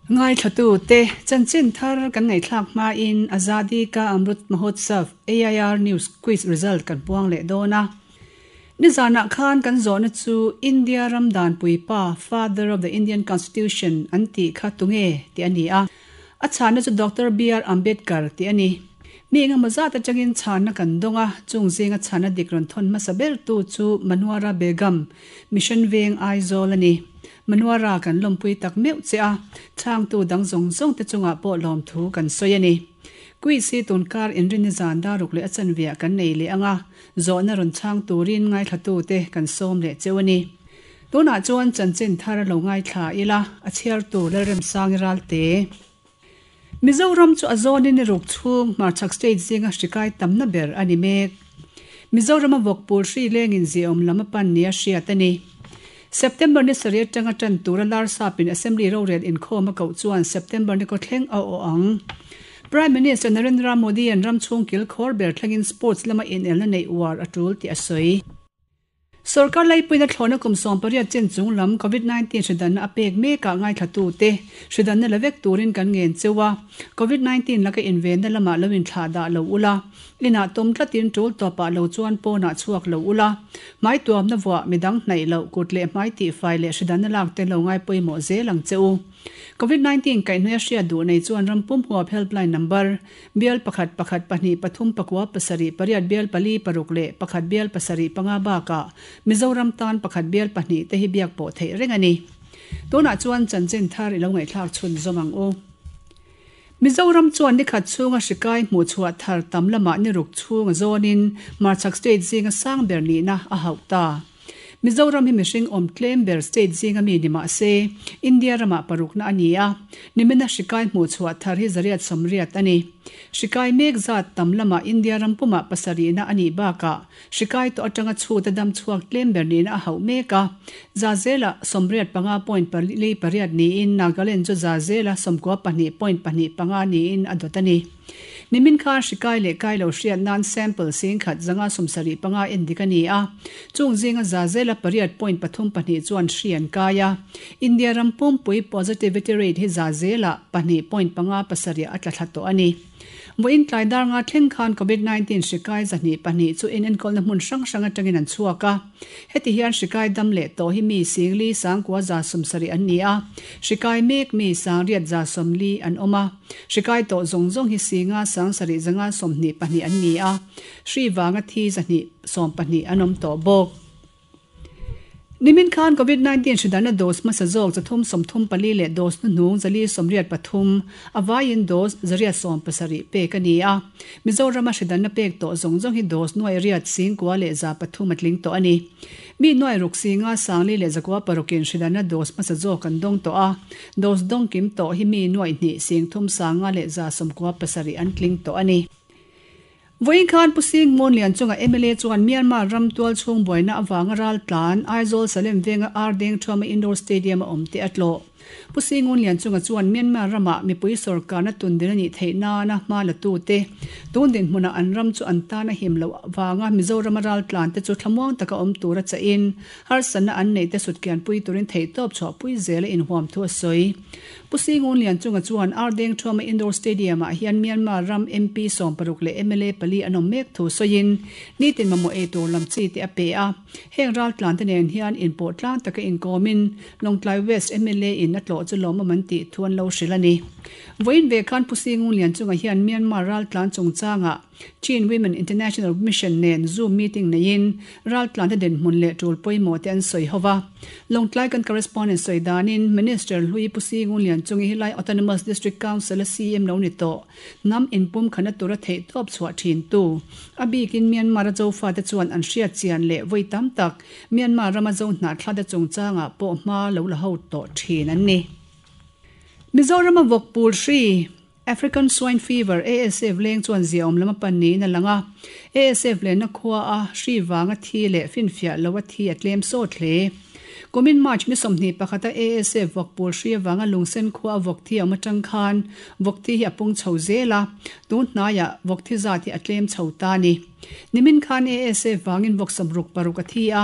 Ngaithlatute chanchin thar kan ngaihthlak hmain Azadi Ka Amrut Mahotsav AIR News Quiz result kan puang leh dawn a. Nizanah khan kan zawhna chu India ram danpui pa, Father of the Indian Constitution, an tih kha tunge tih a ni a. A chhanna chu Doctor BR Ambedkar tih a ni. Mi engemaw zat atangin chhanna kan dawng a, chung zinga chhanna dik rawn thawn hmasa bertu chu Manuara Begum, Mission Veng Aizawl a ni. Manuara kan lawmpui tak meuh che a, chhangtu dang zawng zawng te chungah pawh lawmthu kan sawi a ni. Quiz hi tunkar inrinni zan daruk leh a chanveah kan nei leh ang a, zawhna rawn chhang turin ngaithlatute kan sawm leh cheu a ni. Tunah chuan chanchin thar lo ngaithla ila, a chhiartu Lalremsangi Ralte. Mizoram chu a zawnin i ruk chhung hmarchhak state zinga hrikai tamna ber a ni mek. Mizorama vawk pul hri lengin ziaawm lam a pan nia hriat a ni. September ni sarih atanga tan tura Larsapin Assembly rorel inkhawm a koh chuan September ni kawthleng a awh ang. Prime Minister Narendra Modi-a'n ram chhung kil khawr ber thlengin sports lama inelna neih uar a tul tih a sawi. Sorkar laipuina thlawhna kum 18 chen chung lam Covid 19 hridanna a pek mekah ngaithlatute hridanna la vek turin kan ngen cheu a, Covid 19 laka invenna lamah lo inthlah dah lo ula, inah tawm tlatin tul tawpah lo chuan pawnah chhuak lo ula, hmai tuamna vuah midang hnaih loh kut leh hmai tihfai leh hridanna lak te lo ngai pawimawh zel ang che u. Covid 19 kaihhnawih a hriat duh nei chuan ram pum huap helpline number Bial pakhat pakhat pahnih pathum pakua pasarih pariat bial pali paruk leh pakhat bial pasarih panga bakah Mizoram tan pakhat bial pahnih te hi biak pawh theih reng a ni. Tunah chuan chanchin thar i lo ngaihthlak chhun zawm ang u. Mizoram chuan nikhat chhunga hrikai hmuhchhuah thar tam lamah ni ruk chhunga zawnin Hmarchhak State zinga sang ber nihna a hauh ta. Mizoram hi mihring awm tlem ber state zinga mi ni mah se, India ramah parukna a ni a, nimina hrikai hmuhchhuah thar hi zariat sawmriat a ni. Hrikai mek zat tam lamah India ram pumah pasarihna a nih bakah hrikai tawh atanga chhuta dam chhuak tlem ber nihna a hauh mek a. Zazela sawmriat panga point pali pariat niin Nagaland chu Zazela sawmkua pahnih point pahnih panga niin a dawt a ni. Nimin khan hrikai leh kai lo hriat nan sample singkhat zanga sawmsarih panga en dik a ni a, chung zinga za zela pariat point pathum pahnih chuan hri an kai a. India ram pumpui positivity rate hi za zelah pahnih point panga pasarih a tla thla tawh a ni. Vawiin tlai dar nga thleng khan Covid 19 hrikai zahnih pahnih chu inenkawlna hmun hrang hrang atangin an chhuak a. Heti hian hrikai dam leh tawh hi mi singli sangkua za sawmsarih an ni a, hrikai mek mi sangriat za sawmli an awm a. Hrikai tawh zawng zawng hi singa sangsarih zanga 22 an ni a, hri vanga thi zahnih 12 an awm tawh bawk. Nimin khan Covid 19 hridanna dose hmasa zawk zathum 34 leh dose hnuhnung zali 83, a vaiin dose zariat 17 pek a ni a. Mizorama hridanna pek tawh zawng zawng hi dose nuai riat singkua leh 300 a tling tawh a ni. Mi nuai ruk singa sangli leh zakua parukin hridanna dose hmasa zawk an dawng tawh a, dose dawng kim tawh hi mi nuai hnih sing thum sanga leh 97 an tling tawh a ni. Vawiin khan Pu Sing Mawnlian chunga mla chuan Myanmar ram tual chhung buaina avanga ral tlan Aizawl Salem venga Ar Deng Thuama Indoor Stadium a awm te a tlawh. Pu Sing Ngunlian chunga chuan Myanmar ramah mipui sorkarna tundin a nih theih nana hma la tute tun dinhmunah an ram chu an tan a him loh avanga Mizorama ral tlan te chu thlamuang taka awm tura chahin harsatna an neih te sutkianpui turin theihtawp chhuahpui zel a inhuam thu a sawi. Pu Sing Ngunlian chunga chuan Ar Deng Thuama Indoor Stadium-ah hian Myanmar ram MP 60 leh mla pali an awm mek thu sawiin nitin mamawh ei tur lam chi te a pe a. Heng raltlan te nen hian inpawh tlang taka inkawmin Lawngtlai West mla in a tlawh chu lawmawm an tih thu an lo hrilh a ni. Vawiin ve khan Pu Sing Ngunlian chunga hian Myanmar raltlan chungchangah Chin Women International Mission nen Zoom meeting neiin raltlante dinhmun leh tul pawimawh te an sawi ho va. Lawngtlai kan correspondent sawi danin Minister Hlui Pu Sing Ngunlian chungi helai Autonomous District Council a CM lo ni tawh hnam inpum khana tura theihtawp chhuah thin tu a bikin Myanmar a Zofa te chuan an hriat chian leh vawi tam tak Myanmar rama Zo hnahthla te chungchangah pawh hma lo la ho tawh thin an ni. Mizorama vawk pul hri African Swine Fever, ASF, leng chuan ziaawm lam a pan niin a lang a. ASF lenna khua a hri vanga thi leh finfiah lo a thi a tlem sawt hle. Kumin March ni 21 a ASF vawk pawl hri avanga lungsen khua a vawk thi a awm atang khan vawk thi hi a pung chho zel a, tun hnaiah vawk thi zat hi a tlem chho ta a ni. Nimin khan ASF vangin vawk 60 paruk a thi a,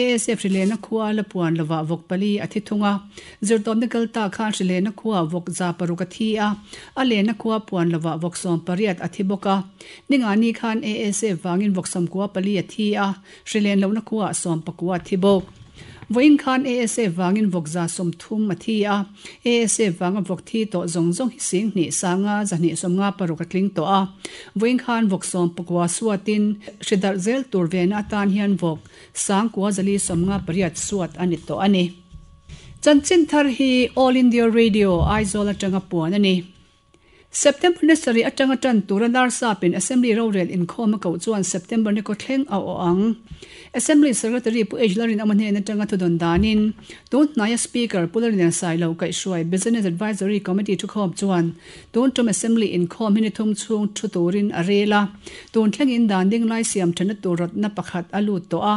ASF hrilehna khua la puan lovah vawk pali a thi thung a. Zirtawpna kal ta khan hrilehna khua vawk 106 a thi a, a lenna khua puan lovah vawk 18 a thi bawk a. Ningani khan ASF vangin vawk 94 a thi a, Hrilen lohna khuaah 19 a thi bawk. Vawiin khan ASF vangin vawk 130 a thi a, ASF vanga vawk thi tawh zawng zawng hi 2000 sanga 256 a tling tawh a. Vawiin khan vawk 19 suatin hri darh zel tur vena atan hian vawk 9458 suat a ni tawh a ni. Chanchin thar hi All India Radio, Aizawl atanga puan a ni. September ni sarih atanga tan tura Larsapin Assembly rorel inkhawm a koh chuan September ni kawthleng a awh ang. Assembly Secretary Pu H Lalrinawma hnen atanga thudawn danin tun hnaia Speaker Pu Lalrinlian Sailo kaihhruai Business Advisory Committee thukhawm chuan tun tum Assembly inkhawm hi ni thum chhung thu turin a rel a. Tun thlengin dan ding lai siam thenna tur rawtna pakhat a lut tawh a.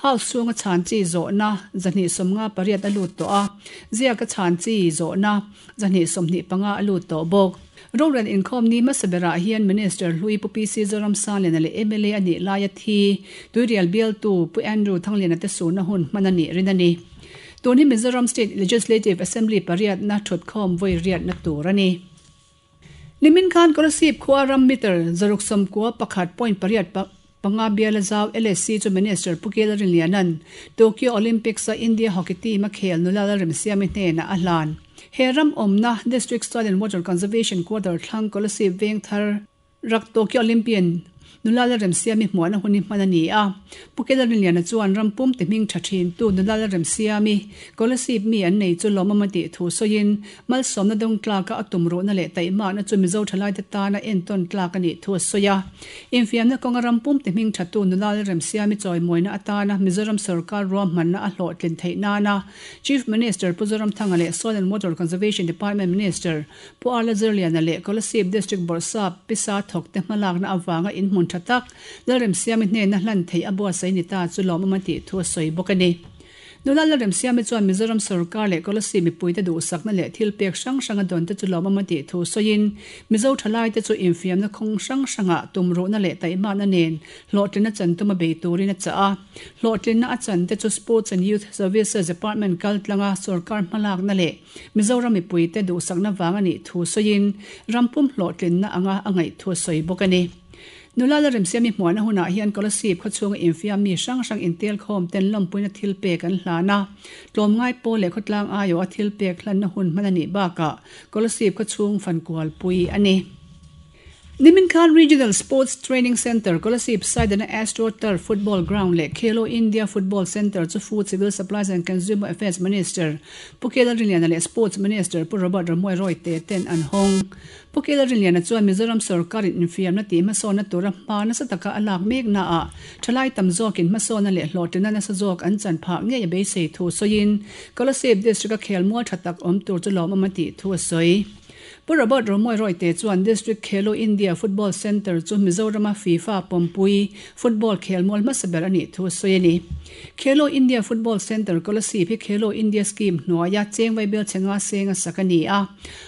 House chhunga chhan chi zawhna 258 a lut tawh a. Ziaka chhan chi zawhna 225 a lut tawh bawk. Rorel inkhawm ni hmasa berah hian Minister hlui Pu PC Zoramsangliana leh mla a nih laia thi Tuirial bialtu Pu Andrew Thangliana te surna hun hman a nih rin a ni. Tun hi Mizoram State Legislative Assembly pariatna thutkhawm vawi riatna tur a ni. Nimin khan Kolasib khua ram meter 691 point pariat panga biala zau LSC chu Minister Pu Kela Rinliana'n Tokyo Olympics-a India Hockey team a khel nula Lalremsiami hnenah a hlan. He ram awmna District Soil and Water Conservation Quarter thlang Kolasib veng thar rak Tokyo Olympian Nula Lalremsiami hmuahna hun hi hman a ni a. Pu Kela Rinliana chuan ram pum ti hming tha thin tu Nula Lalremsiami Kolasib mi an nei chu lawmawm a tih thu sawiin Malsawmna dawng tlaka a tum ruhna leh taihmakna chu Mizo thalaite tana entawn tlak a nih thu a sawi a. Infiamna kawnga ram pum ti hming thatu nula Lalremsiami chawimawina atana Mizoram sorkar ruahmanna a hlawhtlin theih nana Chief Minister Pu Zoramthanga leh Soil and Water Conservation Department Minister Pu Arla Zirliana leh Kolasib District Bawrhsap Pisa thawkte hmalakna avanga inhmun tha tak Lalremsiami hnena hlan theih a buatsaih ni ta chu lawmawm a tih thu a sawi bawk a ni. Nula Lalremsiami chuan Mizoram sorkar leh Kolasib mipuite duhsakna leh thil pek hrang hrang a dawn te chu lawmawm a tih thu sawiin Mizo thalaite chu infiamna khawng hrang hrangah tumruhna leh taihmakna nen hlawhtlinna chan tuma bei turin a chah a. Hlawhtlinna a chan te chu Sports and Youth Services Department kaltlanga sorkar hmalakna leh Mizoram mipuite duhsakna vang a nih thu sawiin rampum hlawhtlinna anga a ngaih thu a sawi bawk a ni. Nula Lalremsiami hmuahna hunah hian Kolasib khawchhunga infiam mi hrang hrang intelkhawm ten lawmpuina thil pek an hlan a. Tlawmngai pawl leh khawtlang aiawh a thil pek hlanna hun hman a nih bakah Kolasib khawchhung fankualpui a ni. Nimin khan Regional Sports Training Centre, Kolasib Saidana Astro Turf Football Ground leh Khelo India Football Centre chu Food, Civil Supplies and Consumer Affairs Minister Pu Kela Rinliana leh Sports Minister Pu Robert Ramuai Royte ten an hawng. Pu Kela Rinliana chuan Mizoram sorkarin infiamna tih hmasawnna tura hma nasa taka a lak meknaah thalai tam zawkin hmasawnna leh hlawhtlinna nasa zawk an chan phah ngei a beisei thu sawiin Kolasib District-a khelmual tha tak awm tur chu lawmawm a tih thu a sawi. Pu Robert Romoy Royte chuan District Khelo India Football Centre chu Mizorama FIFA pawmpui football khelmual hmasa ber a nih thu a sawi a ni. Khelo India Football Centre Kolasib hi Khelo India Scheme hnuaia cheng vaibel chhe nga seng a sak a ni a.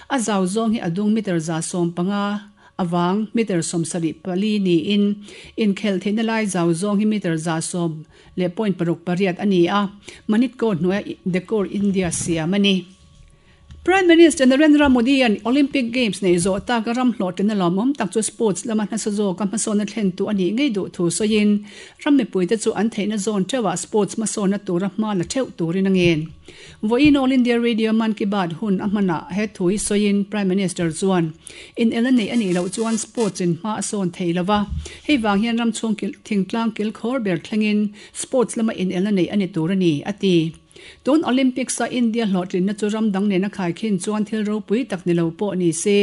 A zau zawng hi a dung meter 150 avang meter 74 niin inkhelh theihna lai zau zawng hi meter 110 leh point paruk pariat a ni a, Manitco hnuaia Decor India siam a ni. Prime Minister Narendra Modi-a'n Olympic Games neih zawh taka ram hlawhtlinna lawmawm tak chu sports lama hnasa zawka hmasawnna thlentu a nih ngei duh thu sawiin, ram mipuite chu an theihna zawn theuhah sports hmasawnna tura hma la theuh turin a ngen. Vawiin All India Radio Mann Ki Baat hun a hmanah he thu hi sawiin Prime Minister chuan, Inel a neih a nih loh chuan sports in hma a sawn thei lo va, hei vang hian ram chhung thingtlang kilkhawr ber thlengin sports lama inel a neih a ni tur a ni, a ti. Tun Olympics-a India hlawhtlinna chu ram dang nena khaikhin chuan thil ropui tak ni lo pawh ni se,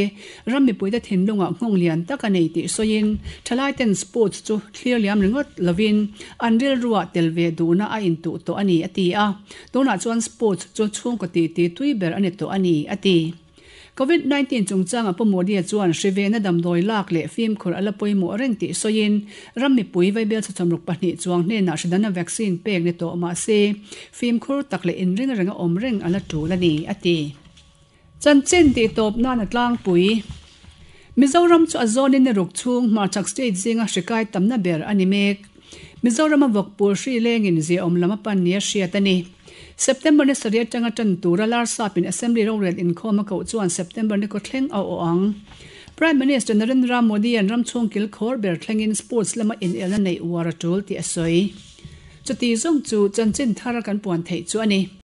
ram mipuite thinlungah nghawng lian tak a nei tih sawiin, thalaiten sports chu thlir liam ringawt lovin an rilruah tel ve duhna a intuh tawh a ni, a ti a. Tunah chuan sports chu chhungkaw titi tui ber a ni tawh a ni, a ti. Covid 19 chungchangah Pu Modi-a chuan hri vena damdawi lak leh fimkhur a la pawimawh reng tih sawiin ram mipui vaibel chhawchawmruk pahnih chuang hnenah hri danna vaccine pek ni tawh mah se fimkhur tak leh inring renga awm reng a la tul a ni, a ti. Chanchin tih tawp nan a tlangpui. Mizoram chu a zawnin ni ruk chhung hmarchhak state zinga hri kai tamna ber a ni mek. Mizorama vawkpur hri lengin ziaawm lam a pan nia hriat a ni. September ni sarih atanga tan tura Larsapin Assembly rorel inkhawm a koh chuan September ni kaw thleng a awh ang. Prime Minister Narendra Modi-a'n ram chhung kil khawr ber thlengin sports lama inelna neih uar a tul tih a sawi. Chuti zawng chu chanchin thar kan puan theih chu a ni.